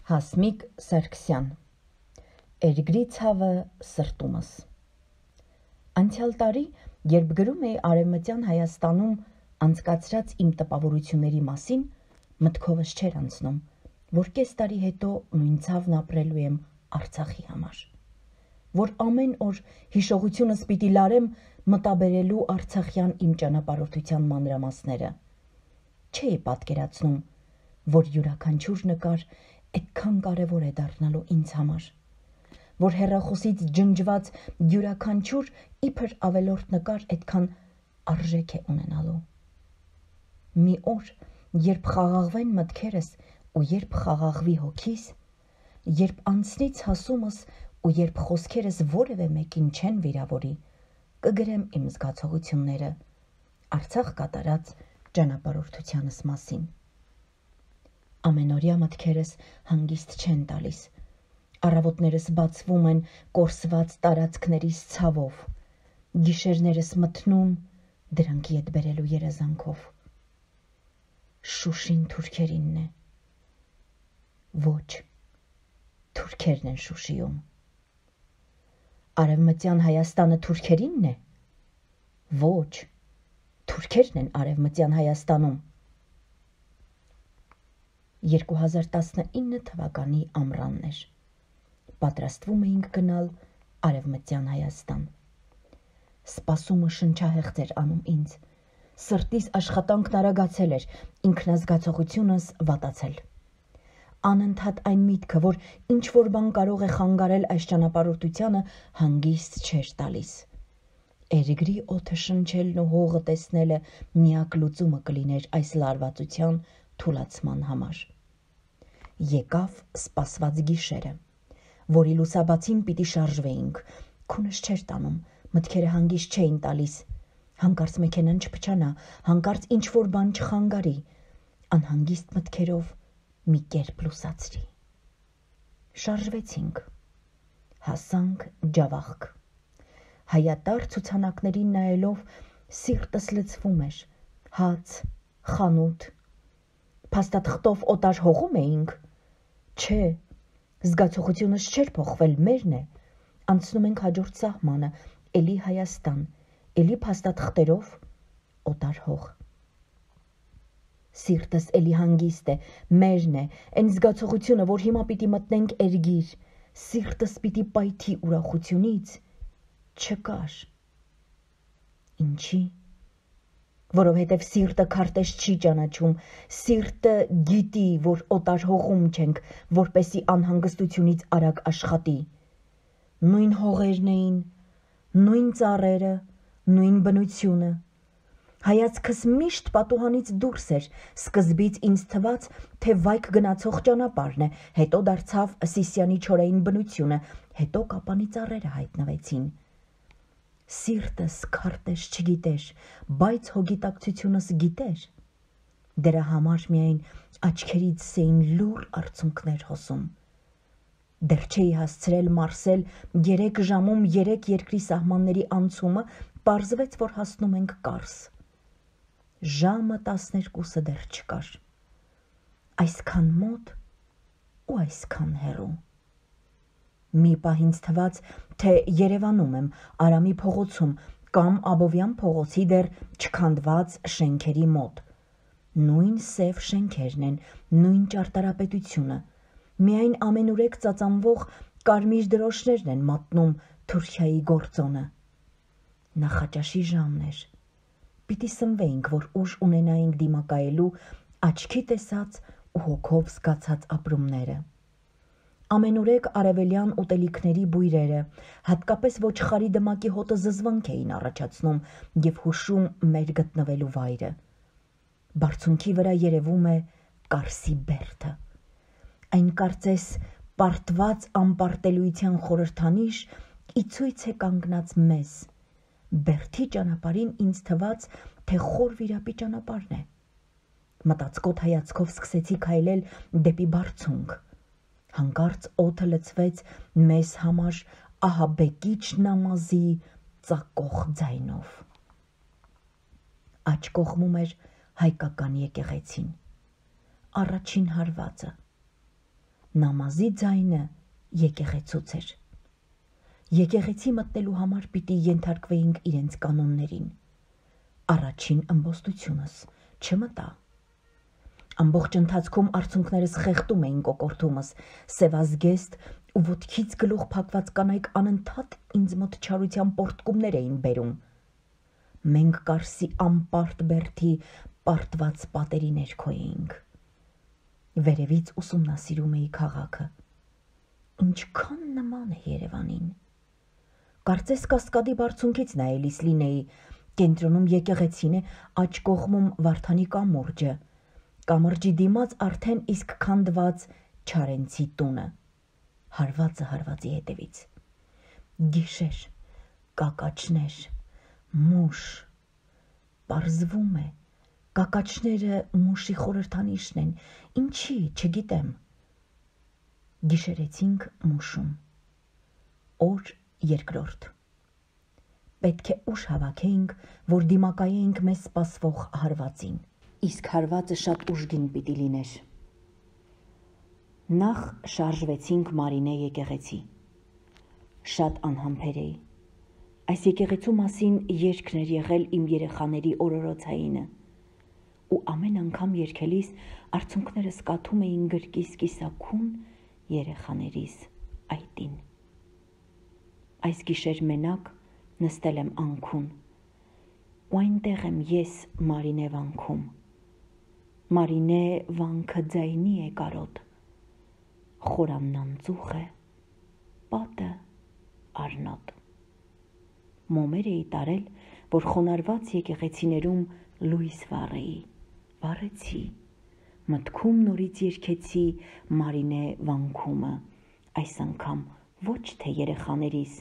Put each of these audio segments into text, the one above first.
Հասմիկ Սարգսյան Էրգրի ցավը սրտումս Անցյալ տարի, երբ գրում էի Արևմտյան Հայաստանում անցկացրած իմ տպավորությունների մասին, մտքովս չէր անցնում, որ կես տարի հետո նույն ցավն ապրելու եմ Արցախի համար, որ ամեն օր հիշողությունս պիտի լարեմ մտաբերելու արցախյան իմ ճանապարհորդության մանրամասները։ Չէի պատկերացնում, որ յուրաքանչյուր նկար այդքան կարևոր է դառնալու ինձ համար, որ հեռախոսից ջնջված յուրաքանչյուր իբր ավելորդ նկար այդքան արժեք է ունենալու։ Մի օր, երբ խաղաղվեն մտքերս ու երբ խաղաղվի հոգիս, երբ անցնի ցասումս ու երբ խոսքերս որևէ մեկին չեն վիրավորի, կգրեմ իմ զգացողությունները Արցախ կատարած ճանապարհորդությանս մասին։ Ամենօրյա մտքերս հանգիստ չեն տալիս, առավոտներս բացվում են կորսված տարածքներիս ցավով, գիշերներս մթնում դրանքի հետ բերելու երազանքով։ Շուշին թուրքերինն է։ Ոչ, թուրքերն են Շուշիում։ Արևմտյան Հայաստանը թուրքերինն է։ Ոչ, թուրքերն են Արևմտյան Հայաստանում։ 2019 թվականի ամռանն էր։ Պատրաստվում էինք գնալ Արևմտյան Հայաստան։ Սպասումը շնչահեղձ էր անում ինձ։ Սրտիս աշխատանքն արագացել էր, ինքնազգացողությունս վատացել։ Անընդհատ այն միտքը, որ ինչ-որ բան կարող է խանգարել այս ճանապարհորդությանը, հանգիստ չէր տալիս։ Էրգրի օդը շնչելն ու հողը տեսնելը միակ լուծումը կլիներ այս լարվածության թուլացման համար։ Եկավ սպասված գիշերը, որի լուսաբացին պիտի շարժվեինք, քունս չէր տանում, մտքերը հանգիստ չէին տալիս, հանկարծ մեքենան չփչանա, հանկարծ ինչ-որ բան չխանգարի, անհանգիստ մտքերով մի կերպ լուսացրի։ Շարժվեցինք, հասանք Ջավախք։ Հայատար ցուցանակներին նայելով սիրտս լցվում էր, հաց, խանութ, փաստաթղթով օտար հողում էինք։ Չէ, զգացողությունս չէր փոխվել, մերն է, անցնում ենք հաջորդ սահմանը, էլի Հայաստան, էլի փաստաթղթերով օտար հող։ Սիրտս էլի հանգիստ է, մերն է, այն զգացողությունը, որ հիմա պիտի մտնենք Էրգիր, սիրտս պիտի պայթի ուրախությունից, չկար։ Ինչի՞։ Որովհետև սիրտը քարտեզ չի ճանաչում, սիրտը գիտի, որ օտար հողում չենք, որպեսի անհանգստությունից արագ աշխատի։ Նույն հողերն էին, նույն ծառերը, նույն բնությունը։ Հայացքս միշտ պատուհանից դուրս էր, սկզբից ինձ թվաց, թե վայք գնացող ճանապարհն է, հետո դարձավ Սիսիանի չորային բնությունը, հետո Կապանի ծառերը հայտնվեցին։ Սիրտս քարտեզ չգիտեր, բայց հոգիտակցությունս գիտեր։ Դրա համար միայն աչքերից էին լուռ արցունքներ հոսում։ Դեռ չէի հասցրել մարսել 3 ժամում 3 երկրի սահմանների անցումը, պարզվեց, որ հասնում ենք Կարս։ Ժամը 12-ը դեռ չկար։ Այսքան մոտ ու այսքան հեռու։ Մի պահ ինձ թվաց, թե Երևանում եմ, Արամի փողոցում կամ Աբովյան փողոցի դեռ չքանդված շենքերի մոտ։ Նույն սև շենքերն են, նույն ճարտարապետությունը, միայն ամենուրեք ծածանվող կարմիր դրոշներն են մատնում Թուրքիայի գործոնը։ Նախաճաշի ժամն էր։ Պիտի սնվեինք, որ ուժ ունենայինք դիմակայելու աչքի տեսած ու հոգով զգացած ապրումները։ Ամենուրեք արևելյան ուտելիքների բույրերը, հատկապես ոչխարի դմակի հոտը զզվանք էին առաջացնում և հուշում մեր գտնվելու վայրը։ Բարձունքի վրա երևում է Կարսի բերդը։ Այն կարծես պարտված անպարտելույթյան խորհրդանիշ ի ցույց է կանգնած մեզ։ Բերդի ճանապարհին ինձ թվաց, թե խոր վիրապի ճանապարհն է։ Մտածկոտ հայացքով սկսեցի քայլել դեպի բարձունք։ Հանկարծ օդը լցվեց մեզ համար ահաբեկիչ նամազի ծակող ձայնով։ Աջ կողմում էր հայկական եկեղեցին, առաջին հարվածը։ Նամազի ձայնը եկեղեցուց էր։ Եկեղեցի մտնելու համար պիտի ենթարկվեինք իրենց կանոններին։ Առաջին ըմբոստությունս չմտա։ Ամբողջ ընթացքում արցունքներս խեղդում էին կոկորտումս, սևազգեստ ու ոտքից գլուխ փակված կանայք անընդհատ ինձ մոտ չարության պորտկումներ էին բերում։ Մենք Կարսի անպարտ բերդի պարտված պատերի ներքո էինք։ Վերևից ուսումնասիրում էի քաղաքը։ Ինչքան նման է Երևանին։ Կարծես Կասկադի բարձունքից նայելիս լինեի, կենտրոնում եկեղեցին է, աջ կողմում Վարդանի կամուրջը, կամրջի դիմաց արդեն իսկ քանդված Չարենցի տունը, հարվածը հարվածի հետևից։ Գիշեր, կակաչներ, մուշ, պարզվում է, կակաչները մուշի խորհրդանիշն են, ինչի, չգիտեմ։ Գիշերեցինք մուշում։ Օր երկրորդ։ Պետք է ուշ հավաքեինք, որ դիմակայեինք մեզ սպասվող հարվածին։ Իսկ հարվածը շատ ուժգին պիտի լիներ։ Նախ շարժվեցինք Մարինե եկեղեցի։ Շատ անհամբեր էի։ Այս եկեղեցու մասին երգն էր եղել իմ երեխաների օրորոցայինը, ու ամեն անգամ երգելիս արցունքներս կաթում էին գրկիս կիսաքուն երեխաներիս այտին։ Այս գիշեր մենակ նստել եմ անքուն, ու այնտեղ եմ ես Մարինե վանքում։ Մարինե վանքը ձայնի է կարոտ, խորանն անծուխ է, պատը արնոտ։ Մոմեր էի տարել, որ խոնարված եկեղեցիներում լույս վառեի, վառեցի, մտքում նորից երգեցի Մարինե վանքումը, այս անգամ ոչ թե երեխաներիս,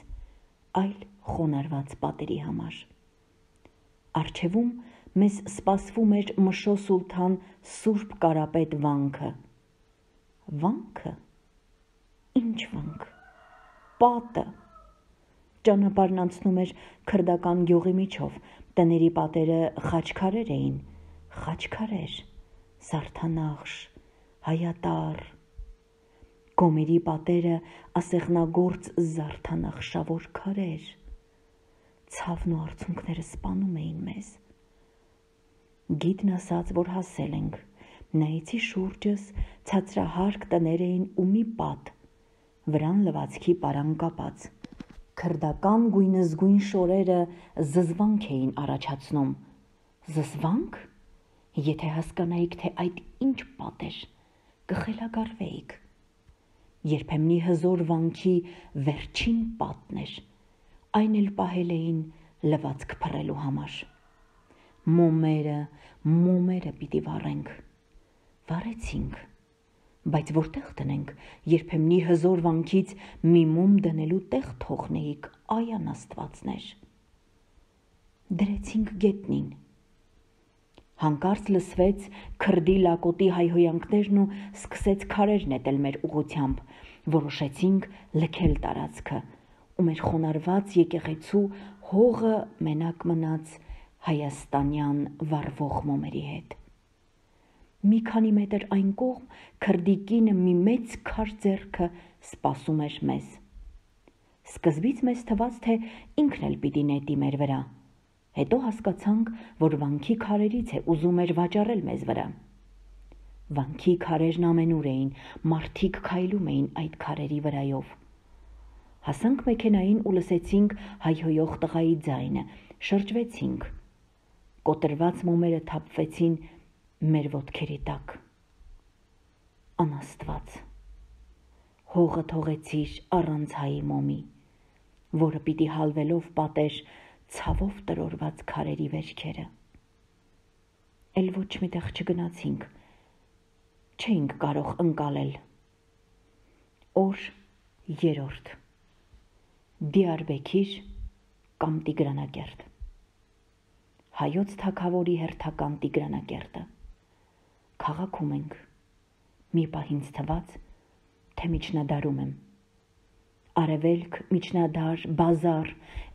այլ խոնարված պատերի համար։ Առջևում մեզ սպասվում էր Մշո Սուլթան Սուրբ Կարապետ վանքը։ Վանքը։ Ինչ վանք։ Պատը։ Ճանապարհն անցնում էր քրդական գյուղի միջով, տների պատերը խաչքարեր էին, խաչքարեր, Սարդանախշ, Հայատար։ Գոմերի պատերը ասեղնագործ զարդանախշավոր քարեր։ Ցավն ու արցունքները սպանում էին մեզ։ Գիտն ասաց, որ հասել ենք, նայեցի շուրջս, ցածրահարկ տներ էին ու մի պատ, վրան լվացքի պարան կապած։ Քրդական գույնզգույն շորերը զզվանք էին առաջացնում։ Զզվանք? Եթե հասկանայիք, թե այդ ինչ պատ էր, կխելագարվեիք։ Երբեմնի հզոր վանքի վերջին պատն էր, այն էլ պահել էին լվացք փռելու համար։ Մոմերը պիտի վառենք։ Վառեցինք, բայց որտեղ տնենք, երբեմնի հզոր վանքից մի մոմ դնելու տեղ թողնեիք, այան աստվածներ։ Դրեցինք գետնին։ Հանկարծ լսվեց քրդի լակոտի հայհոյանքներն ու սկսեց քարեր նետել մեր ուղությամբ, որոշեցինք լքել տարածքը, ու մեր խոնարված եկեղեցու հողը մենակ մնաց հայաստանյան վառվող մոմերի հետ։ Մի քանի մետր այն կողմ քրդի կինը մի մեծ քար ձեռքը սպասում էր մեզ։ Սկզբից մեզ թվաց, թե ինքն էլ պիտի նետի մեր վրա։ Հետո հասկացանք, որ վանքի քարերից է ուզում էր վաճառել մեզ վրա։ Վանքի քարերն ամենուր էին, մարդիկ քայլում էին այդ քարերի վրայով։ Հասանք մեքենային ու լսեցինք հայհոյող տղայի ձայնը, շրջվեցինք։ Կոտրված մոմերը թափվեցին մեր ոտքերի տակ։ Անաստված, հողը թողեցիր առանց հայի մոմի, որը պիտի հալվելով պատեր ցավով տրորված քարերի վերքերը։ Էլ ոչ միտեղ չգնացինք, չէինք կարող ընկալել։ Օր երրորդ։ Դիարբեքիր կամ Տիգրանակերտ։ Հայոց թագավորի հերթական Տիգրանակերտը։ Քաղաքում ենք։ Մի պահ ինձ թվաց, թե միջնադարում եմ։ Արևելք, միջնադար, բազար,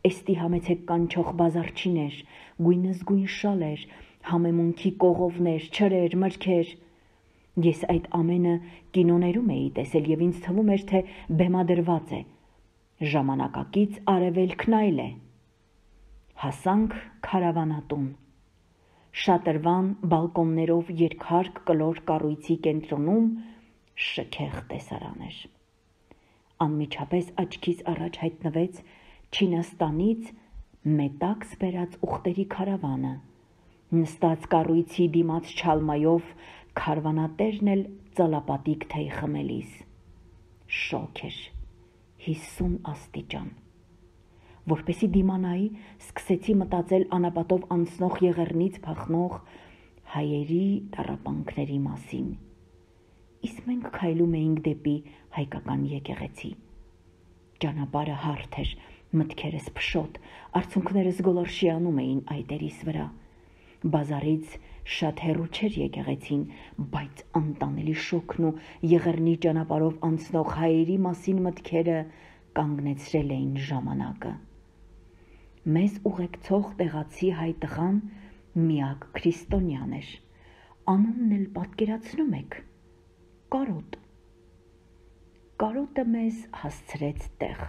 էստի համեցեք կանչող բազարչիներ, գույնզգույն շալեր, համեմունքի կողովներ, չրեր, մրգեր։ Ես այդ ամենը կինոներում էի տեսել եւ ինձ թվում էր, թե բեմադրված է։ Ժամանակակից արևելքն այլ է։ Հասանք քարավանատուն։ Շատրվան բալկոններով երկհարկ կլոր կառույցի կենտրոնում շքեղ տեսարան էր։ Անմիջապես աչքիս առաջ հայտնվեց Չինաստանից մետաքս բերած ուղտերի քարավանը։ Նստած կառույցի դիմաց չալմայով քարվանատերն էլ ծալապատիկ թեյ խմելիս։ Շոգ էր, 50 աստիճան։ Որպեսի դիմանայի, սկսեցի մտածել անապատով անցնող եղեռնից փախնող հայերի տառապանքների մասին։ Իսկ մենք քայլում էինք դեպի հայկական եկեղեցի։ Ճանապարհը հարթ էր, մտքերս փշոտ, արցունքներս գոլորշիանում էին այտերիս վրա։ Բազարից շատ հեռու չէր եկեղեցին, բայց անտանելի շոգն ու եղեռնի ճանապարհով անցնող հայերի մասին մտքերը կանգնեցրել էին ժամանակը։ Մեզ ուղեկցող տեղացի հայ տղան միակ քրիստոնյան էր։ Անունն էլ պատկերացնում եք՝ Կարոտ։ Կարոտը մեզ հասցրեց տեղ։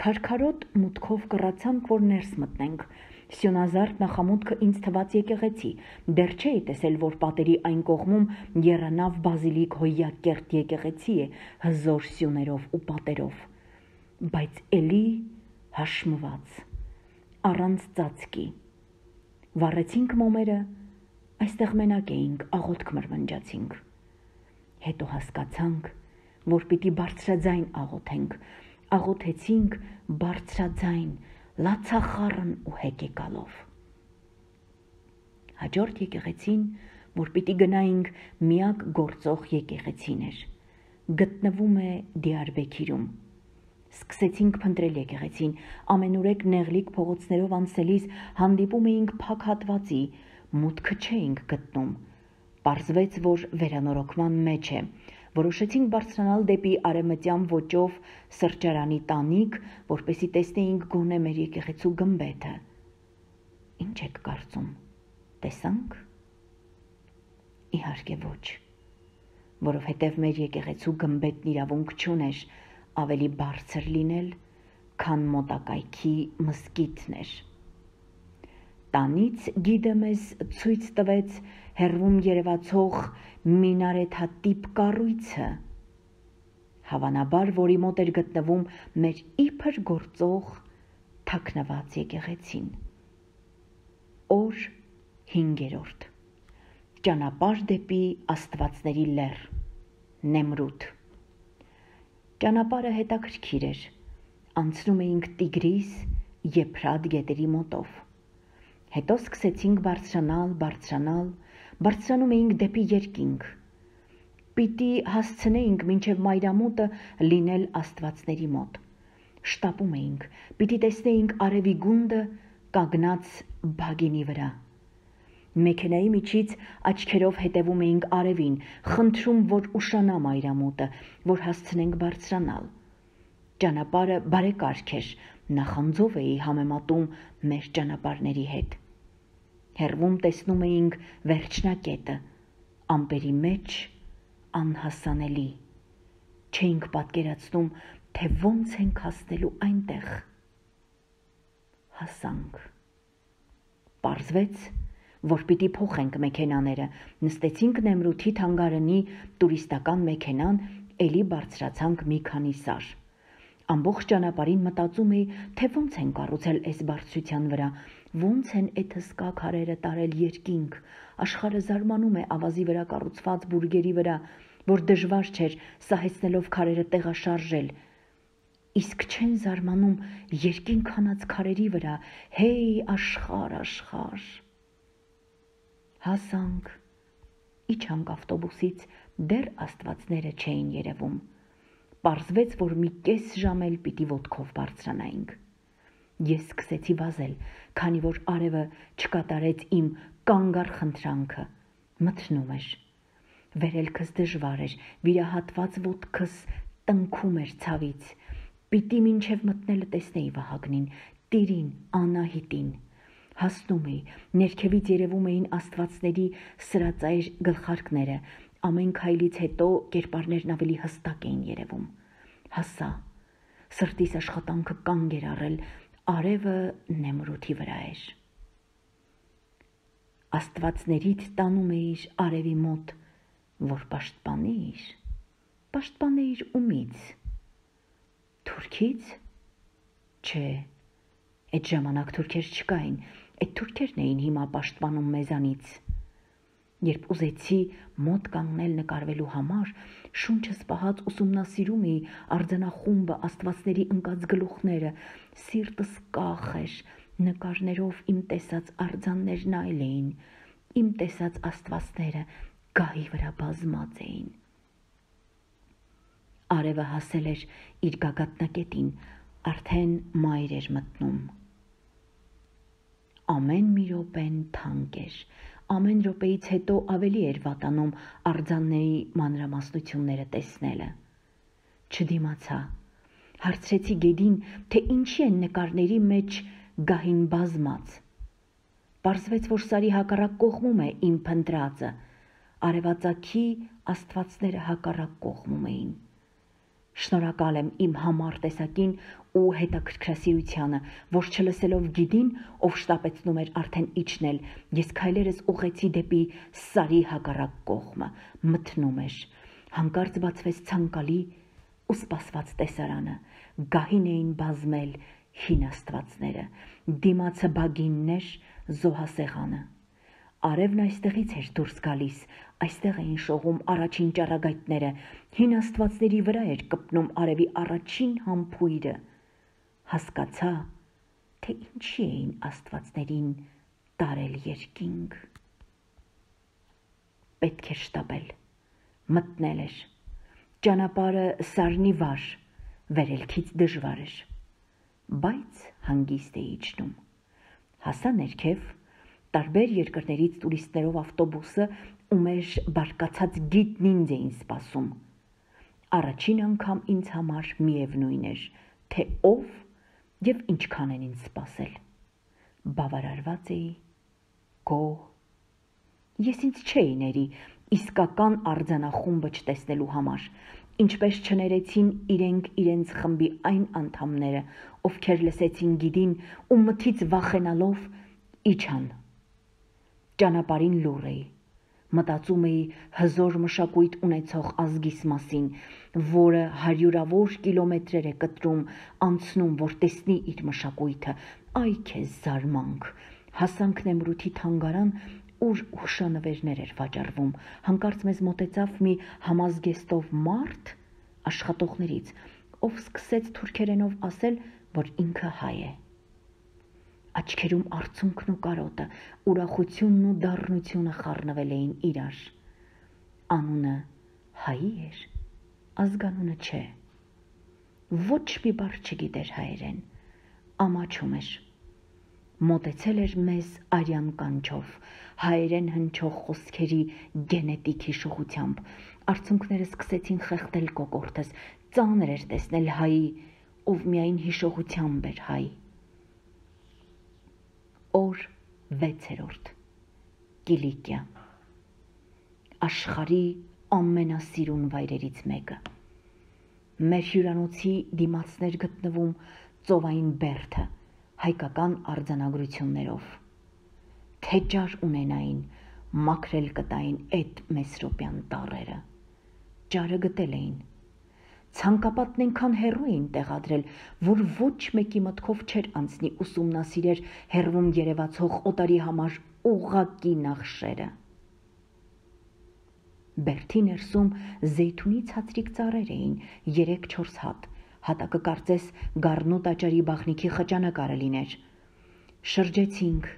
Քարքարոտ մուտքով կռացանք, որ ներս մտնենք։ Սյունազարդ նախամուտքը ինձ թված եկեղեցի, դեռ չէի տեսել, որ պատերի այն կողմում եռանավ բազիլիկ հոյակերտ եկեղեցի է, հզոր սյուներով ու պատերով, բայց էլի հաշմված, առանց ծածկի։ Վառեցինք մոմերը, այստեղ մենակ էինք, աղոթք մրմնջացինք։ Հետո հասկացանք, որ պիտի բարձրաձայն աղոթենք, աղոթեցինք բարձրաձայն, լացախառն ու հեկեկալով։ Հաջորդ եկեղեցին, որ պիտի գնայինք, միակ գործող եկեղեցին էր, գտնվում է Դիարբեքիրում։ Սկսեցինք փնտրել եկեղեցին, ամենուրեք նեղլիկ փողոցներով անցնելիս հանդիպում էինք փակ հատվածի, մուտքը չէինք գտնում։ Պարզվեց, որ վերանորոգման մեջ է։ Որոշեցինք բարձրանալ դեպի արևմտյան ոճով սրճարանի տանիք, որպեսզի տեսնեինք գոնե մեր եկեղեցու գմբեթը։ Ինչ եք կարծում, տեսանք։ Իհարկե ոչ, որովհետև մեր եկեղեցու գմբեթն իրավունք չուներ ավելի բարձր լինել, քան մոտակայքի մզկիթն էր։ Տանից գիդը մեզ ցույց տվեց հեռվում երևացող մինարեթատիպ կառույցը, հավանաբար, որի մոտ էր գտնվում մեր իբր գործող թաքնված եկեղեցին։ Օր 5-րդ։ Ճանապարհ դեպի Աստվածների լեռ, Նեմրութ։ Ճանապարհը հետաքրքիր էր։ Անցնում էինք Տիգրիս, Եփրատ գետերի մոտով։ Հետո սկսեցինք բարձրանալ, բարձրանում էինք դեպի երկինք։ Պիտի հասցնեինք մինչև մայրամուտը լինել Աստվածների մոտ։ Շտապում էինք, պիտի տեսնեինք արևի գունդը կանգնած բագինի վրա։ Մեքենայի միջից աչքերով հետևում էինք արևին, խնդրում, որ ուշանա մայրամուտը, որ հասցնենք բարձրանալ։ Ճանապարհը բարեկարգ էր, նախանձով էի համեմատում մեր ճանապարհների հետ։ Հեռվում տեսնում էինք վերջնակետը, ամպերի մեջ անհասանելի։ Չէինք պատկերացնում, թե ոնց ենք հասնելու այնտեղ։ Հասանք։ Պարզվեց, որ պիտի փոխենք մեքենաները, նստեցինք Նեմրութի թանգարանի տուրիստական մեքենան, էլի բարձրացանք մի քանի սար։ Ամբողջ ճանապարհին մտածում էի, թե ոնց են կառուցել այս բարձրության վրա, ոնց են այդ հսկա քարերը տարել երկինք, աշխարհը զարմանում է ավազի վրա կառուցված բուրգերի վրա, որ դժվար չէր սահեցնելով քարերը տեղաշարժել, իսկ չեն զարմանում երկինք հանած քարերի վրա, հեյ աշխարհ, աշխարհ։ Հասանք, իջանք ավտոբուսից, դեռ Աստվածները չէին երևում։ Պարզվեց, որ մի կես ժամ էլ պիտի ոտքով բարձրանայինք։ Ես սկսեցի վազել, քանի որ արևը չկատարեց իմ կանգառ խնդրանքը, մթնում էր։ Վերելքս դժվար էր, վիրահատված ոտքս տնքում էր ցավից։ Պիտի մինչև մտնելը տեսնեի Վահագնին, Տիրին, Անահիտին։ Հասնում էի, ներքևից երևում էին Աստվածների սրածայր գլխարկները, Ամեն քայլից հետո կերպարներն ավելի հստակ էին երևում։ Հասա, սրտիս աշխատանքը կանգ էր առել, արևը նեմրութի վրա էր։ Աստվածներիդ տանում էիր արևի մոտ, որ պաշտպանեիր ումից։ Թուրքից։ Չէ, այդ ժամանակ թուրքեր չկային, այդ թուրքերն էին հիմա պաշտպանում մեզանից։ Երբ ուզեցի մոտ կանգնել նկարվելու համար, շունչս պահած ուսումնասիրում էի արձանախումբը, աստվածների ընկած գլուխները, սիրտս կախ էր, նկարներով իմ տեսած արձաններն այլ էին, իմ տեսած աստվածները գահի վրա բազմած էին։ Արևը հասել էր իր գագաթնակետին, արդեն մայր էր մտնում։ Ամեն մի րոպեն թանկ էր, ամեն րոպեից հետո ավելի էր վատանում արձանների մանրամասնությունները տեսնելը։ Չդիմացա, հարցրեցի Գեդին, թե ինչի են նկարների մեջ գահին բազմած։ Պարզվեց, որ սարի հակառակ կողմում է իմ փնտրածը, արևածագի աստվածները հակառակ կողմում էին։ Շնորհակալ եմ իմ համառ տեսակին ու հետաքրքրասիրությանը, որ չլսելով Գիդին, ով շտապեցնում էր արդեն իջնել, ես քայլերս ուղղեցի դեպի սարի հակառակ կողմը, մթնում էր, հանկարծ բացվեց ցանկալի ու սպասված տեսարանը, գահին էին բազմել հին աստվածները, դիմացը բագինն էր, զոհասեղանը։ Արևն այստեղից էր դուրս գալիս, այստեղ էին շողում առաջին ճառագայթները, հին աստվածների վրա էր կպնում արևի առաջին համբույրը։ Հասկացա, թե ինչի էին աստվածներին տարել երկինք։ Պետք էր շտապել, մտնել էր, ճանապարհը սարնի վար, վերելքից դժվար էր, բայց հանգիստ էի իջնում։ Հասա ներքև, տարբեր երկրներից տուրիստներով ավտոբուսը ու մեր բարկացած գիդն ինձ էին սպասում։ Առաջին անգամ ինձ համար միևնույն էր, թե ով և ինչքան են ինձ սպասել։ Բավարարված էի, գոհ։ Ես ինձ չէի ների իսկական արձանախումբը չտեսնելու համար, ինչպես չներեցին իրենք իրենց խմբի այն անդամները, ովքեր լսեցին Գիդին ու մթից վախենալով իջան։ Ճանապարհին լուռ էի, մտածում էի հզոր մշակույթ ունեցող ազգիս մասին, որը հարյուրավոր կիլոմետրեր է կտրում, անցնում, որ տեսնի իր մշակույթը, այ քեզ զարմանք։ Հասանք Նեմրութի թանգարան, ուր հուշանվերներ էր վաճառվում, հանկարծ մեզ մոտեցավ մի համազգեստով մարդ աշխատողներից, ով սկսեց թուրքերենով ասել, որ ինքը հայ է։ Աչքերում արցունքն ու կարոտը, ուրախությունն ու դառնությունը խառնվել էին իրար։ Անունը հայի էր, ազգանունը չէ։ Ոչ մի բառ չգիտեր հայերեն, ամաչում էր։ Մոտեցել էր մեզ արյան կանչով, հայերեն հնչող խոսքերի գենետիկ հիշողությամբ, արցունքները սկսեցին խեղդել կոկորդս, ծանր էր տեսնել հայի, ով միայն հիշողությամբ էր հայ։ Օր 6-րդ, Կիլիկիա, աշխարհի ամենասիրուն վայրերից մեկը։ Մեր հյուրանոցի դիմացներ գտնվում ծովային բերդը, հայկական արձանագրություններով։ Թե ջար ունենային, մաքրել կտային այդ մեսրոպյան տառերը։ Ջարը գտել էին։ Ցանկապատն այնքան հեռու էին տեղադրել, որ ոչ մեկի մտքով չէր անցնի ուսումնասիրեր հեռվում երևացող օտարի համար ուղղակի նախշերը։ Բերդի ներսում զեյթունի ցածրիկ ծառեր էին, 3-4 հատ, հատակը կարծես գառնու տաճարի բաղնիքի խճանակարը լիներ։ Շրջեցինք,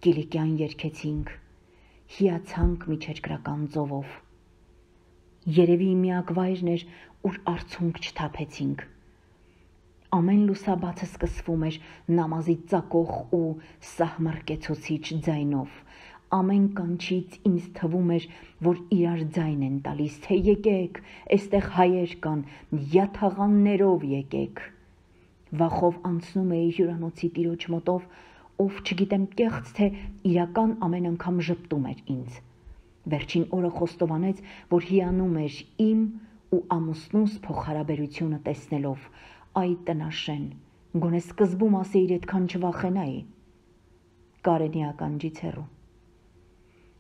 Կիլիկյան երգեցինք, հիացանք միջերկրական ծովով։ Երևի միակ վայրն էր, ուր արցունք չթափեցինք։ Ամեն լուսաբացը սկսվում էր նամազի ծակող ու սահմռկեցուցիչ ձայնով։ Ամեն կանչից ինձ թվում էր, որ իրար ձայն են տալիս, թե եկեք, էստեղ հայեր կան, յաթաղաններով եկեք։ Վախով անցնում էի հյուրանոցի տիրոջ մոտով, ով չգիտեմ կեղծ թե իրական ամեն անգամ ժպտում էր ինձ։ Վերջին օրը խոստովանեց, որ հիանում էր իմ ու ամուսնուս փոխհարաբերությունը տեսնելով, այ տնաշեն, գոնե սկզբում ասեիր այդքան չվախենայի։ Կարենի ականջից հեռու։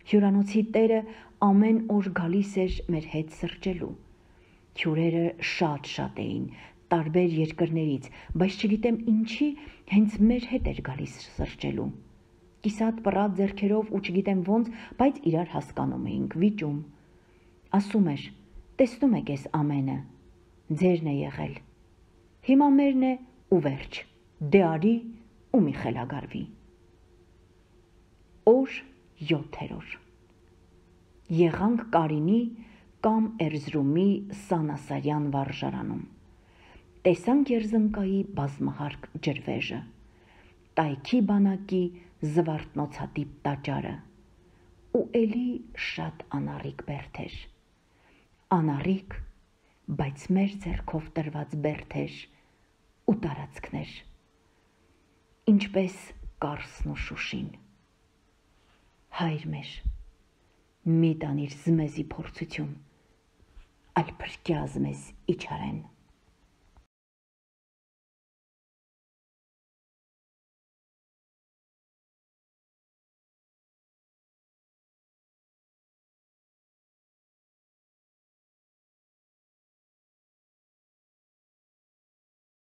Հյուրանոցի տերը ամեն օր գալիս էր մեր հետ սրճելու։ Հյուրերը շատ էին, տարբեր երկրներից, բայց չգիտեմ ինչի հենց մեր հետ էր գալիս սրճելու։ Կիսատ պռատ ձեռքերով ու չգիտեմ ոնց, բայց իրար հասկանում էինք, վիճում։ Ասում էր, տեսնում եք էս ամենը, ձերն է եղել։ Հիմա մերն է ու վերջ, դե արի ու մի խելագարվի։ Օր 7-րդ։ Եղանք Կարինի կամ Էրզրումի Սանասարյան վարժարանում։ Տեսանք Երզնկայի բազմահարկ ջրվեժը, Տայքի բանակի զվարթնոցատիպ տաճարը ու էլի շատ անառիկ բերդեր։ Անառիկ, բայց մեր ձեռքով տրված բերդեր ու տարածքներ, ինչպես Կարսն ու Շուշին։ Հայր մեր, մի տանիր զմեզի փորձություն, այլ փրկյա զմեզ իչարեն։